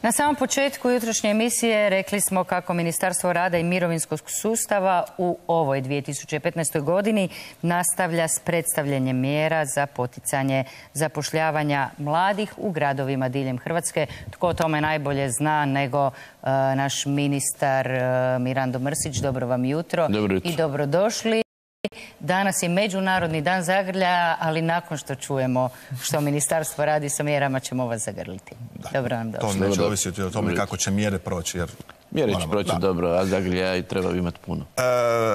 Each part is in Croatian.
Na samom početku jutrošnje emisije rekli smo kako Ministarstvo rada i mirovinskog sustava u ovoj 2015. godini nastavlja s predstavljanjem mjera za poticanje zapošljavanja mladih u gradovima diljem Hrvatske. Tko o tome najbolje zna nego naš ministar Mirando Mrsić. Dobro vam jutro i dobrodošli. Danas je Međunarodni dan zagrljaja, ali nakon što čujemo što ministarstvo radi sa mjerama ćemo vas zagrliti. Dobro nam došli. To neće ovisiti o tome kako će mjere proći. Mjere će proći dobro, a zagrljaja i treba imati puno.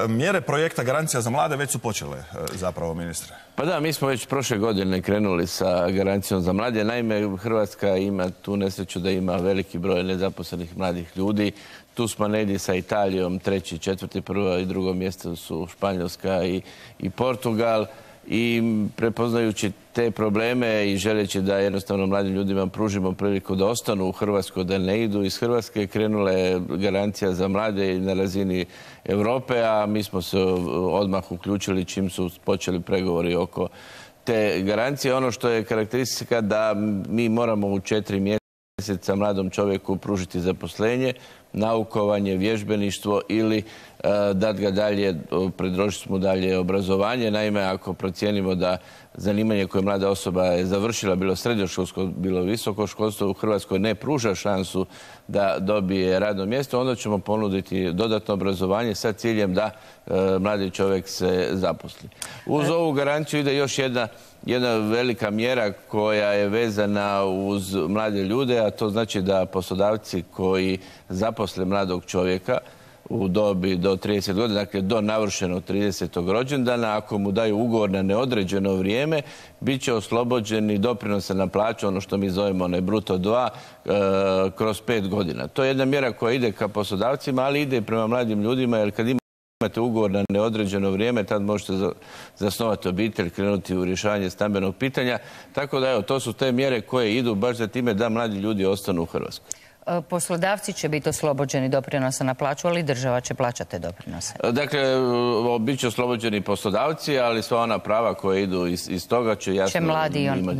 Mjere projekta Garancija za mlade već su počele zapravo, ministre. Pa da, mi smo već prošle godine krenuli sa Garancijom za mlade. Naime, Hrvatska ima tu nesreću da ima veliki broj nezaposlenih mladih ljudi. Tu smo negdje sa Italijom, treći, četvrti, prvo i drugo mjesto su Španjolska i Portugal. I prepoznajući te probleme i želeći da jednostavno mladim ljudima pružimo priliku da ostanu u Hrvatskoj, da ne idu iz Hrvatske, krenula je Garancija za mlade na razini Europe, a mi smo se odmah uključili čim su počeli pregovori oko te garancije. Ono što je karakteristika da mi moramo u 4 mjeseca mladom čovjeku pružiti zaposlenje, naukovanje, vježbeništvo ili dati ga dalje, predložiti mu dalje obrazovanje. Naime, ako procijenimo da zanimanje koje mlada osoba je završila, bilo srednjoškolsko, bilo visoko školstvo, u Hrvatskoj ne pruža šansu da dobije radno mjesto, onda ćemo ponuditi dodatno obrazovanje sa ciljem da mladi čovjek se zaposli. Uz ovu garanciju ide još jedna velika mjera koja je vezana uz mlade ljude, a to znači da poslodavci koji zaposle mladog čovjeka u dobi do 30 godina, dakle do navršenog 30. rođendana, ako mu daju ugovor na neodređeno vrijeme, bit će oslobođeni doprinosa na plaću, ono što mi zovemo onaj bruto 2, kroz 5 godina. To je jedna mjera koja ide ka poslodavcima, ali ide i prema mladim ljudima, jer kad imate ugovor na neodređeno vrijeme, tad možete zasnovati obitelj, krenuti u rješavanje stambenog pitanja. Tako da, evo, to su te mjere koje idu baš za time da mladi ljudi ostanu u Hrvatskoj. Poslodavci će biti oslobođeni doprinosa na plaću, ali država će plaćati te doprinose. Dakle, bit će oslobođeni poslodavci, ali sva ona prava koje idu iz toga će jasno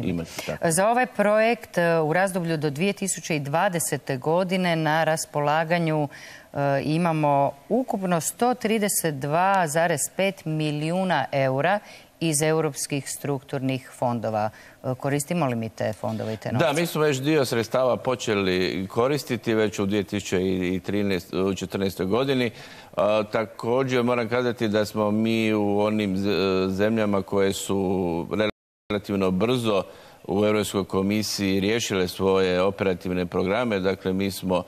imati. Za ovaj projekt u razdoblju do 2020. godine na raspolaganju imamo ukupno 132,5 milijuna eura iz europskih strukturnih fondova. Koristimo li mi te fondove i te novce? Da, mi smo već dio sredstava počeli koristiti već u 2014. godini. Također moram kazati da smo mi u onim zemljama koje su relativno brzo u Europskoj komisiji riješile svoje operativne programe. Dakle, mi smo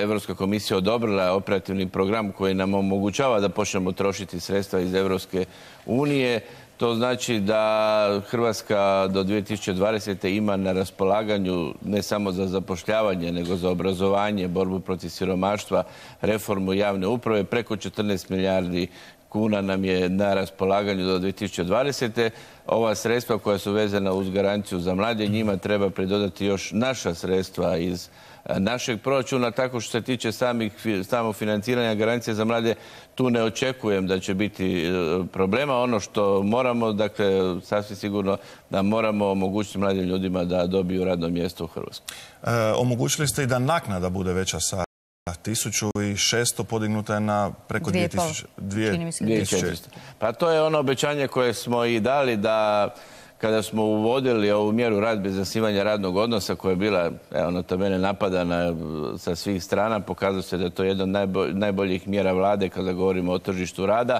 Europska komisija odobrila operativni program koji nam omogućava da počnemo trošiti sredstva iz Europske unije. To znači da Hrvatska do 2020. ima na raspolaganju ne samo za zapošljavanje, nego za obrazovanje, borbu protiv siromaštva, reformu javne uprave. Preko 14 milijardi kuna nam je na raspolaganju do 2020. Ova sredstva koja su vezana uz Garanciju za mlade, njima treba pridodati još naša sredstva iz našeg proračuna. Tako što se tiče samog financiranja Garancije za mlade, tu ne očekujem da će biti problema. Ono što moramo, dakle, sasvim sigurno da moramo omogućiti mladim ljudima da dobiju radno mjesto u Hrvatskoj. Omogućili ste i da naknada bude veća sa 1600 podignuta je na preko 2400. Pa to je ono obećanje koje smo i dali da kada smo uvodili ovu mjeru rad bez zasnivanja radnog odnosa koja je bila, ono to mene napadana sa svih strana, pokazalo se da je to jedna od najboljih mjera vlade kada govorimo o tržištu rada.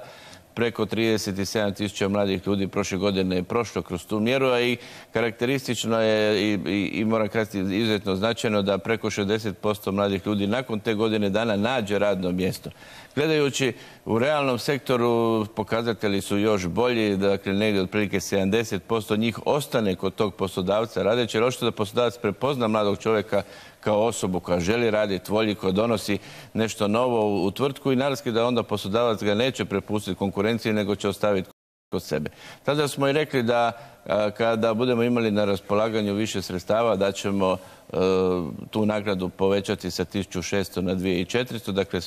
Preko 37.000 mladih ljudi prošle godine je prošlo kroz tu mjeru, a i karakteristično je i moram kazati izuzetno značajno da preko 60% mladih ljudi nakon te godine dana nađe radno mjesto. Gledajući u realnom sektoru pokazatelji su još bolji, dakle negdje otprilike 70% njih ostane kod tog poslodavca radeći, jer očito da poslodavac prepozna mladog čovjeka kao osobu koja želi raditi, volji, koja donosi nešto novo u tvrtku i naravno da onda poslodavac ga neće prepustiti konkurenciji, nego će ostaviti kod sebe. Tada smo i rekli da kada budemo imali na raspolaganju više sredstava, da ćemo tu nagradu povećati sa 1600 na 2400. Dakle,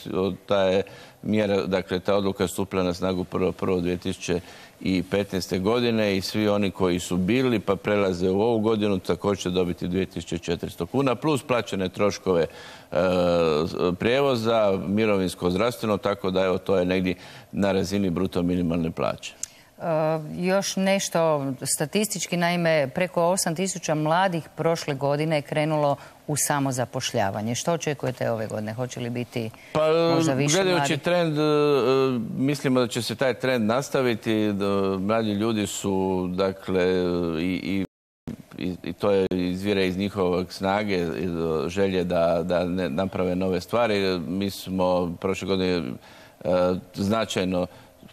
ta je mjera, dakle, ta odluka je stupila na snagu 1.1.2015. godine i svi oni koji su bili pa prelaze u ovu godinu također će dobiti 2400 kuna plus plaćene troškove prijevoza, mirovinsko, zdravstveno, tako da evo to je negdje na razini bruto minimalne plaće. Još nešto statistički, naime, preko 8000 mladih prošle godine je krenulo u samozapošljavanje. Što očekujete ove godine? Hoće li biti možda više mladih? Gledajući trend, mislimo da će se taj trend nastaviti. Mladi ljudi su, dakle, i to je izvire iz njihovog snage, želje da naprave nove stvari. Mi smo prošle godine značajno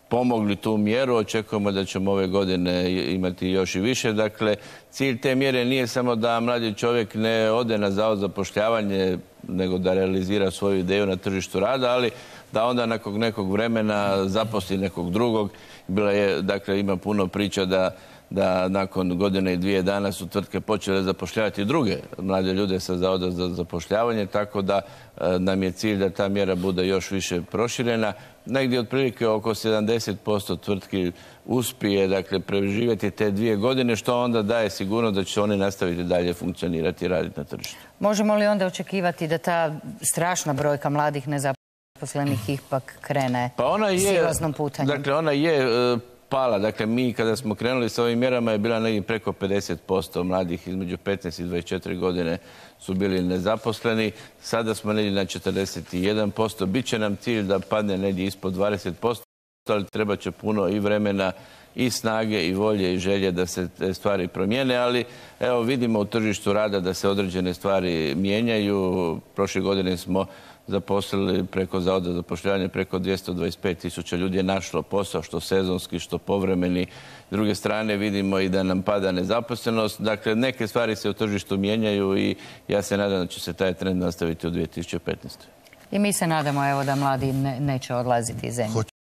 pomogli tu mjeru, očekujemo da ćemo ove godine imati još i više. Dakle, cilj te mjere nije samo da mladi čovjek ne ode na zavod za zapošljavanje, nego da realizira svoju ideju na tržištu rada, ali da onda nakon nekog vremena zaposli nekog drugog. Dakle, ima puno priča da nakon godine i 2 dana su tvrtke počele zapošljavati druge mlade ljude sa zavoda za zapošljavanje, tako da nam je cilj da ta mjera bude još više proširena. Negdje otprilike oko 70% tvrtki uspije, dakle, preživjeti te 2 godine, što onda daje sigurno da će oni nastaviti dalje funkcionirati i raditi na tržištu. Možemo li onda očekivati da ta strašna brojka mladih nezaposlenih ipak krene silaznom putanjem? Dakle, ona je pala. Dakle, mi kada smo krenuli s ovim mjerama je bila negdje preko 50% mladih između 15 i 24 godine su bili nezaposleni. Sada smo negdje na 41%. Biće nam cilj da padne negdje ispod 20%, ali treba će puno i vremena i snage i volje i želje da se te stvari promijene, ali evo vidimo u tržištu rada da se određene stvari mijenjaju. Prošle godine smo zaposlili preko Zavoda za zapošljavanje preko 225.000 ljudi je našlo posao, što sezonski, što povremeni. S druge strane vidimo i da nam pada nezaposlenost. Dakle, neke stvari se u tržištu mijenjaju i ja se nadam da će se taj trend nastaviti u 2015. I mi se nadamo, evo, da mladi neće odlaziti iz zemlje.